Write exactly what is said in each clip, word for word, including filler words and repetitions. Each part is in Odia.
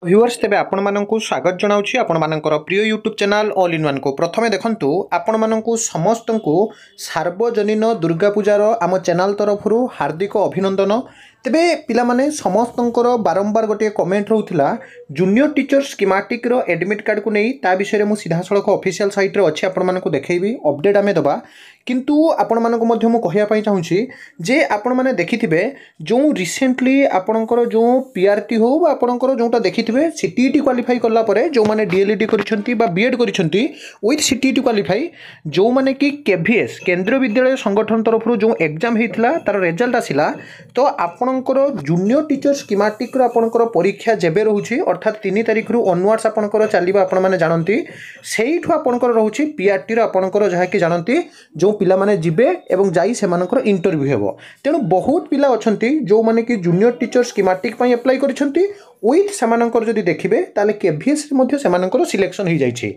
ଭିଉଅର୍ସ ତେବେ ଆପଣମାନଙ୍କୁ ସ୍ୱାଗତ ଜଣାଉଛି ଆପଣମାନଙ୍କର ପ୍ରିୟ ୟୁଟ୍ୟୁବ୍ ଚ୍ୟାନେଲ୍ ଅଲ୍ ଇନ୍ ୱାନ୍କୁ ପ୍ରଥମେ ଦେଖନ୍ତୁ ଆପଣମାନଙ୍କୁ ସମସ୍ତଙ୍କୁ ସାର୍ବଜନୀନ ଦୁର୍ଗା ପୂଜାର ଆମ ଚ୍ୟାନେଲ୍ ତରଫରୁ ହାର୍ଦ୍ଦିକ ଅଭିନନ୍ଦନ ତେବେ ପିଲାମାନେ ସମସ୍ତଙ୍କର ବାରମ୍ବାର ଗୋଟିଏ କମେଣ୍ଟ ରହୁଥିଲା ଜୁନିୟର ଟିଚର ସ୍କିମାଟିକ୍ର ଆଡ଼ମିଟ୍ କାର୍ଡ଼କୁ ନେଇ ତା ବିଷୟରେ ମୁଁ ସିଧାସଳଖ ଅଫିସିଆଲ୍ ସାଇଟ୍ରେ ଅଛି ଆପଣମାନଙ୍କୁ ଦେଖେଇବି ଅପଡ଼େଟ୍ ଆମେ ଦେବା କିନ୍ତୁ ଆପଣମାନଙ୍କୁ ମଧ୍ୟ ମୁଁ କହିବା ପାଇଁ ଚାହୁଁଛି ଯେ ଆପଣମାନେ ଦେଖିଥିବେ ଯେଉଁ ରିସେଣ୍ଟଲି ଆପଣଙ୍କର ଯେଉଁ ପି ଆର୍ ଟି ହେଉ ବା ଆପଣଙ୍କର ଯେଉଁଟା ଦେଖିଥିବେ ସି ଟି ଇ ଟି କ୍ୱାଲିଫାଇ କଲା ପରେ ଯେଉଁମାନେ ଡି ଏଲ୍ ଇ ଡ଼ି କରିଛନ୍ତି ବା ବି ଏଡ଼୍ କରିଛନ୍ତି with C T E T qualify ଯେଉଁମାନେ କି କେ ଭି ଏସ୍ କେନ୍ଦ୍ରୀୟ ବିଦ୍ୟାଳୟ ସଂଗଠନ ତରଫରୁ ଯେଉଁ ଏକ୍ଜାମ୍ ହେଇଥିଲା ତା'ର ରେଜଲ୍ଟ ଆସିଲା ତ ଆପଣଙ୍କର ଜୁନିୟର ଟିଚର ସ୍କିମାଟିକ୍ର ଆପଣଙ୍କର ପରୀକ୍ଷା ଯେବେ ରହୁଛି ଅର୍ଥାତ୍ ତିନି ତାରିଖରୁ ଅନୱାର୍ଡ଼ସ୍ ଆପଣଙ୍କର ଚାଲିବ ଆପଣମାନେ ଜାଣନ୍ତି ସେଇଠୁ ଆପଣଙ୍କର ରହୁଛି ପି ଆର୍ ଟିର ଆପଣଙ୍କର ଯାହାକି ଜାଣନ୍ତି ଯେଉଁ ପିଲାମାନେ ଯିବେ ଏବଂ ଯାଇ ସେମାନଙ୍କର ଇଣ୍ଟରଭ୍ୟୁ ହେବ ତେଣୁ ବହୁତ ପିଲା ଅଛନ୍ତି ଯେଉଁମାନେ କି ଜୁନିୟର ଟିଚର ସ୍କିମାଟିକ୍ ପାଇଁ ଆପ୍ଲାଏ କରିଛନ୍ତି ୱିଥ୍ ସେମାନଙ୍କର ଯଦି ଦେଖିବେ ତାହେଲେ କେଭିଏସ୍ରେ ମଧ୍ୟ ସେମାନଙ୍କର ସିଲେକ୍ସନ୍ ହୋଇଯାଇଛି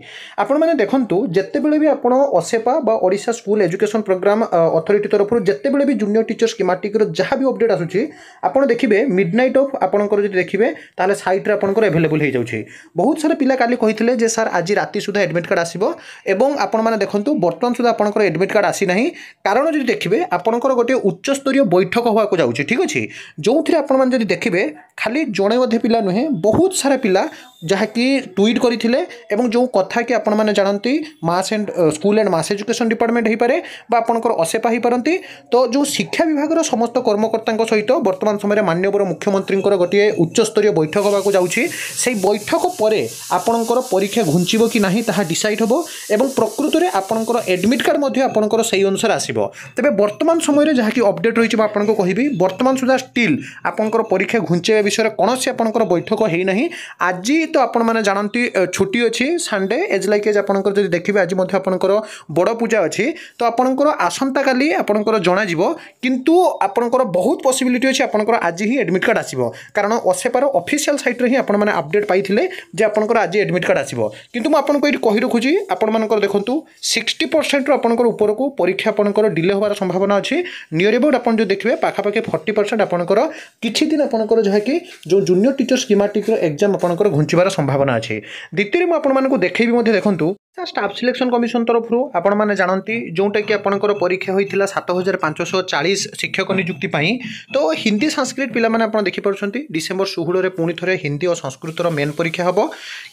ଆପଣମାନେ ଦେଖନ୍ତୁ ଯେତେବେଳେ ବି ଆପଣ ଅସେପା ବା Odisha school education program authority ତରଫରୁ ଯେତେବେଳେ ବି ଜୁନିୟର ଟିଚର ସ୍କିମାଟିକ୍ର ଯାହା ବି ଅପଡ଼େଟ୍ ଆସୁଛି ଆପଣ ଦେଖିବେ ମିଡ୍ ନାଇଟ୍ ଅଫ୍ ଆପଣଙ୍କର ଯଦି ଦେଖିବେ ତାହେଲେ ସାଇଟ୍ରେ ଆପଣଙ୍କର ଆଭେଲେବୁଲ୍ ହୋଇଯାଉଛି ବହୁତ ସାରା ପିଲା କାଲି କହିଥିଲେ ଯେ ସାର୍ ଆଜି ରାତି ସୁଦ୍ଧା ଆଡ଼ମିଟ୍ କାର୍ଡ଼ ଆସିବ ଏବଂ ଆପଣମାନେ ଦେଖନ୍ତୁ ବର୍ତ୍ତମାନ ସୁଦ୍ଧା ଆପଣଙ୍କର ଆଡ଼ମିଟ୍ କାର୍ଡ଼ ଆସିନାହିଁ କାରଣ ଯଦି ଦେଖିବେ ଆପଣଙ୍କର ଗୋଟିଏ ଉଚ୍ଚସ୍ତରୀୟ ବୈଠକ ହେବାକୁ ଯାଉଛି ଠିକ୍ ଅଛି ଯେଉଁଥିରେ ଆପଣମାନେ ଯଦି ଦେଖିବେ ଖାଲି ଜଣେ ଅଧେ ପିଲା ନୁହେଁ ବହୁତ ସାରା ପିଲା ଯାହାକି ଟ୍ୱିଟ୍ କରିଥିଲେ ଏବଂ ଯେଉଁ କଥା କି ଆପଣମାନେ ଜାଣନ୍ତି Mass and School and Mass Education Department ହୋଇପାରେ ବା ଆପଣଙ୍କର ଅସେପା ହୋଇପାରନ୍ତି ତ ଯେଉଁ ଶିକ୍ଷା ବିଭାଗର ସମସ୍ତ କର୍ମକର୍ତ୍ତାଙ୍କ ସହିତ ବର୍ତ୍ତମାନ ସମୟରେ ମାନ୍ୟବର ମୁଖ୍ୟମନ୍ତ୍ରୀଙ୍କର ଗୋଟିଏ ଉଚ୍ଚସ୍ତରୀୟ ବୈଠକ ହେବାକୁ ଯାଉଛି ସେଇ ବୈଠକ ପରେ ଆପଣଙ୍କର ପରୀକ୍ଷା ଘୁଞ୍ଚିବ କି ନାହିଁ ତାହା ଡିସାଇଡ଼୍ ହେବ ଏବଂ ପ୍ରକୃତରେ ଆପଣଙ୍କର ଆଡ଼ମିଟ୍ କାର୍ଡ଼ ମଧ୍ୟ ଆପଣଙ୍କର ସେଇ ଅନୁସାରେ ଆସିବ ତେବେ ବର୍ତ୍ତମାନ ସମୟରେ ଯାହାକି ଅପଡ଼େଟ୍ ରହିଛି ମୁଁ ଆପଣଙ୍କୁ କହିବି ବର୍ତ୍ତମାନ ସୁଦ୍ଧା ଷ୍ଟିଲ୍ ଆପଣଙ୍କର ପରୀକ୍ଷା ଘୁଞ୍ଚେଇବା ବିଷୟରେ କୌଣସି ଆପଣଙ୍କର ବୈଠକ ହୋଇନାହିଁ ଆଜି ତ ଆପଣମାନେ ଜାଣନ୍ତି ଛୁଟି ଅଛି ସଣ୍ଡେ ଏଜ୍ ଲାଇକ୍ ଏଜ୍ ଆପଣଙ୍କର ଯଦି ଦେଖିବେ ଆଜି ମଧ୍ୟ ଆପଣଙ୍କର ବଡ଼ ପୂଜା ଅଛି ତ ଆପଣଙ୍କର ଆସନ୍ତାକାଲି ଆପଣଙ୍କର ଜଣାଯିବ କିନ୍ତୁ ଆପଣଙ୍କର ବହୁତ ପସିବିଲିଟି ଅଛି ଆପଣଙ୍କର ଆଜି ହିଁ ଆଡ଼ମିଟ୍ କାର୍ଡ଼ ଆସିବ କାରଣ ଅସେପାର ଅଫିସିଆଲ୍ ସାଇଟ୍ରେ ହିଁ ଆପଣମାନେ ଅପଡ଼େଟ୍ ପାଇଥିଲେ ଯେ ଆପଣଙ୍କର ଆଜି ଆଡ଼ମିଟ୍ କାର୍ଡ଼ ଆସିବ କିନ୍ତୁ ମୁଁ ଆପଣଙ୍କୁ ଏଇଠି କହି ରଖୁଛି ଆପଣମାନଙ୍କର ଦେଖନ୍ତୁ ସିକ୍ସଟି ପରସେଣ୍ଟରୁ ଆପଣଙ୍କର ଉପରକୁ ପରୀକ୍ଷା ଆପଣଙ୍କର ଡିଲେ ହେବାର ସମ୍ଭାବନା ଅଛି ନିୟର ଏବାଉଟ୍ ଆପଣ ଯଦି ଦେଖିବେ ପାଖାପାଖି ଫର୍ଟି ପରସେଣ୍ଟ ଆପଣଙ୍କର କିଛି ଦିନ ଆପଣଙ୍କର ଯାହାକି ଯେଉଁ ଜୁନିୟର ଟିଚର ସ୍କିମାଟିକ୍ର ଏକ୍ଜାମ୍ ଆପଣଙ୍କର ଘୁଞ୍ଚିବାର ସମ୍ଭାବନା ଅଛି ଦ୍ୱିତୀୟରେ ମୁଁ ଆପଣମାନଙ୍କୁ ଦେଖେଇବି ମଧ୍ୟ ଦେଖନ୍ତୁ ଷ୍ଟାଫ୍ ସିଲେକ୍ସନ୍ କମିଶନ ତରଫରୁ ଆପଣମାନେ ଜାଣନ୍ତି ଯେଉଁଟାକି ଆପଣଙ୍କର ପରୀକ୍ଷା ହୋଇଥିଲା ସାତ ହଜାର ପାଞ୍ଚଶହ ଚାଳିଶ ଶିକ୍ଷକ ନିଯୁକ୍ତି ପାଇଁ ତ ହିନ୍ଦୀ ସାଂସ୍କ୍ରିଟ ପିଲାମାନେ ଆପଣ ଦେଖିପାରୁଛନ୍ତି ଡିସେମ୍ବର ଷୋହଳରେ ପୁଣି ଥରେ ହିନ୍ଦୀ ଓ ସଂସ୍କୃତର ମେନ୍ ପରୀକ୍ଷା ହେବ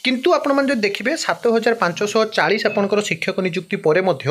କିନ୍ତୁ ଆପଣମାନେ ଯଦି ଦେଖିବେ ସାତ ହଜାର ପାଞ୍ଚଶହ ଚାଳିଶ ଆପଣଙ୍କର ଶିକ୍ଷକ ନିଯୁକ୍ତି ପରେ ମଧ୍ୟ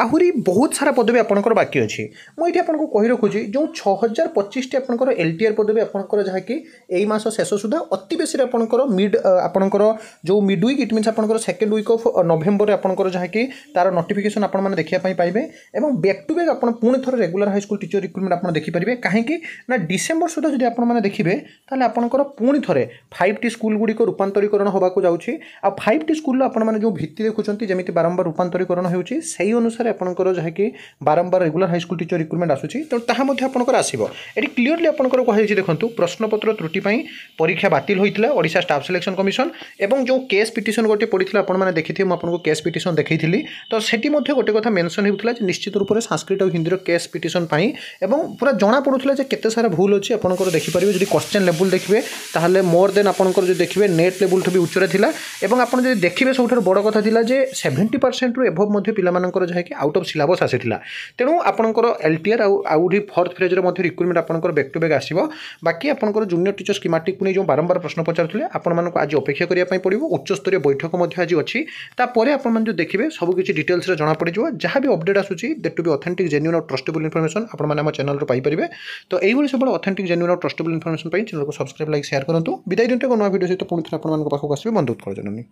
ଆହୁରି ବହୁତ ସାରା ପଦବୀ ଆପଣଙ୍କର ବାକି ଅଛି ମୁଁ ଏଇଠି ଆପଣଙ୍କୁ କହି ରଖୁଛି ଯେଉଁ ଛଅ ହଜାର ପଚିଶଟି ଆପଣଙ୍କର ଏଲ୍ ଟି ଆର୍ ପଦବୀ ଆପଣଙ୍କର ଯାହାକି ଏଇ ମାସ ଶେଷ ସୁଦ୍ଧା ଅତି ବେଶୀରେ ଆପଣଙ୍କର ମିଡ୍ ଆପଣଙ୍କର ଯେଉଁ ମିଡ୍ ୱିକ୍ it means ଆପଣଙ୍କର ସେକେଣ୍ଡ ୱିକ୍ ଅଫ୍ ନଭେମ୍ବରରେ ଆପଣଙ୍କର ଯାହାକି ତାର ନୋଟିଫିକେସନ୍ ଆପଣମାନେ ଦେଖିବା ପାଇଁ ପାଇବେ ଏବଂ ବ୍ୟାକ୍ ଟୁ ବ୍ୟାକ୍ ଆପଣ ପୁଣି ଥରେ regular high school teacher recruitment ଆପଣ ଦେଖିପାରିବେ କାହିଁକି ନା ଡିସେମ୍ବର ସୁଦ୍ଧା ଯଦି ଆପଣମାନେ ଦେଖିବେ ତାହେଲେ ଆପଣଙ୍କର ପୁଣି ଥରେ ଫାଇଭ୍ ଟି ସ୍କୁଲ ଗୁଡ଼ିକ ରୂପାନ୍ତରୀକରଣ ହେବାକୁ ଯାଉଛି ଆଉ ଫାଇଭ୍ ଟି ସ୍କୁଲର ଆପଣମାନେ ଯେଉଁ ଭିତ୍ତି ଦେଖୁଛନ୍ତି ଯେମିତି ବାରମ୍ବାର ରୂପାନ୍ତରୀକରଣ ହେଉଛି ସେଇ ଅନୁସାରେ ଆପଣଙ୍କର ଯାହାକି ବାରମ୍ବାର regular high school teacher recruitment ଆସୁଛି ତେଣୁ ତାହା ମଧ୍ୟ ଆପଣଙ୍କର ଆସିବ ଏଠି କ୍ଲିୟରଲି ଆପଣଙ୍କର କୁହାଯାଇଛି ଦେଖନ୍ତୁ ପ୍ରଶ୍ନପତ୍ର ତ୍ରୁଟି ପାଇଁ ପରୀକ୍ଷା ବାତିଲ ହୋଇଥିଲା ଓଡ଼ିଶା ଷ୍ଟାଫ୍ ସିଲେକ୍ସନ୍ କମିଶନ ଏବଂ ଯେଉଁ କେସ୍ ପିଟିସନ୍ ଗୋଟିଏ ପଡ଼ିଥିଲା ଆପଣମାନେ ଦେଖିଥିବେ ମୁଁ ଆପଣଙ୍କୁ କେସ୍ ପିଟିସନ୍ ଦେଖେଇଥିଲି ତ ସେଠି ମଧ୍ୟ ଗୋଟେ କଥା ମେନସନ୍ ହେଉଥିଲା ଯେ ନିଶ୍ଚିତ ରୂପରେ ସାଂସ୍କ୍ରିଟ ଆଉ ହିନ୍ଦୀର କେସ୍ ପିଟିସନ୍ ପାଇଁ ଏବଂ ପୁରା ଜଣାପଡ଼ୁଥିଲା ଯେ କେତେ ସାରା ଭୁଲ ଅଛି ଆପଣଙ୍କର ଦେଖିପାରିବେ ଯଦି କ୍ୱଶ୍ଚେନ୍ ଲେବୁଲ୍ ଦେଖିବେ ତାହେଲେ ମୋର୍ ଦେନ୍ ଆପଣଙ୍କର ଯଦି ଦେଖିବେ ନେଟ୍ ଲେବୁଲ୍ଠୁ ବି ଉଚ୍ଚରେ ଥିଲା ଏବଂ ଆପଣ ଯଦି ଦେଖିବେ ସବୁଠାରୁ ବଡ଼ କଥା ଥିଲା ଯେ ସେଭେଣ୍ଟି ପରସେଣ୍ଟରୁ ଏଭବ୍ ମଧ୍ୟ ପିଲାମାନଙ୍କର ଯାହାକି ଆଉଟ୍ ଅଫ୍ ସିଲାବସ୍ ଆସିଥିଲା ତେଣୁ ଆପଣଙ୍କର ଏଲ୍ ଟି ଆର୍ ଆଉ ଆହୁରି ଫୋର୍ଥ ଫେଜ୍ରେ ମଧ୍ୟ ରିକ୍ରୁଟମେଣ୍ଟ ଆପଣଙ୍କର ବ୍ୟାକ୍ ଟୁ ବ୍ୟାକ୍ ଆସିବ ବାକି ଆପଣଙ୍କର ଜୁନିୟର ଟିଚର ସ୍କିମାଟିକ୍ ନେଇ ଯେଉଁ ବାରମ୍ବାର ପ୍ରଶ୍ନ ପଚାରୁଥିଲେ ଆପଣମାନଙ୍କୁ ଆଜି ଅପେକ୍ଷା କରିବା ପାଇଁ ପଡ଼ିବ ଉଚ୍ଚସ୍ତରୀୟ ବୈଠକ ମଧ୍ୟ ଆଜି ଅଛି ତାପରେ ଆପଣମାନେ ଯଦି ଦେଖିବେ ସବୁକିଛି ଡିଟେଲ୍ସରେ ଜଣାପଡ଼ିଯିବ ଯାହା ବି ଅପଡ଼େଟ୍ ଆସୁଛି that to be authentic genuine ଆଉ ଟ୍ରଷ୍ଟେବଲ୍ ଇନଫର୍ମେସନ୍ ଆପଣମାନେ ଆମ ଚ୍ୟାନେଲରୁ ପାଇପାରିବେ ତ ଏଇଭଳି ସବୁବେଳେ ଅଥେଣ୍ଟିକ୍ ଜେନ୍ୟୁନ୍ ଆଉ ଟ୍ରଷ୍ଟେବଲ୍ ଇନଫର୍ମେସନ୍ ପାଇଁ ଚ୍ୟାନେଲକୁ ସବସ୍କ୍ରାଇବ୍ ଲାଇକ୍ ସେୟାର କରନ୍ତୁ ବିଦାୟ ଦିଅନ୍ତୁ ଏକ ନୂଆ ଭିଡ଼ିଓ ସହିତ ପୁଣି ଥରେ ଆପଣମାନଙ୍କ ପାଖକୁ ଆସିବି ବନ୍ଧୁ ଉତ୍କଳ ଜନନୀ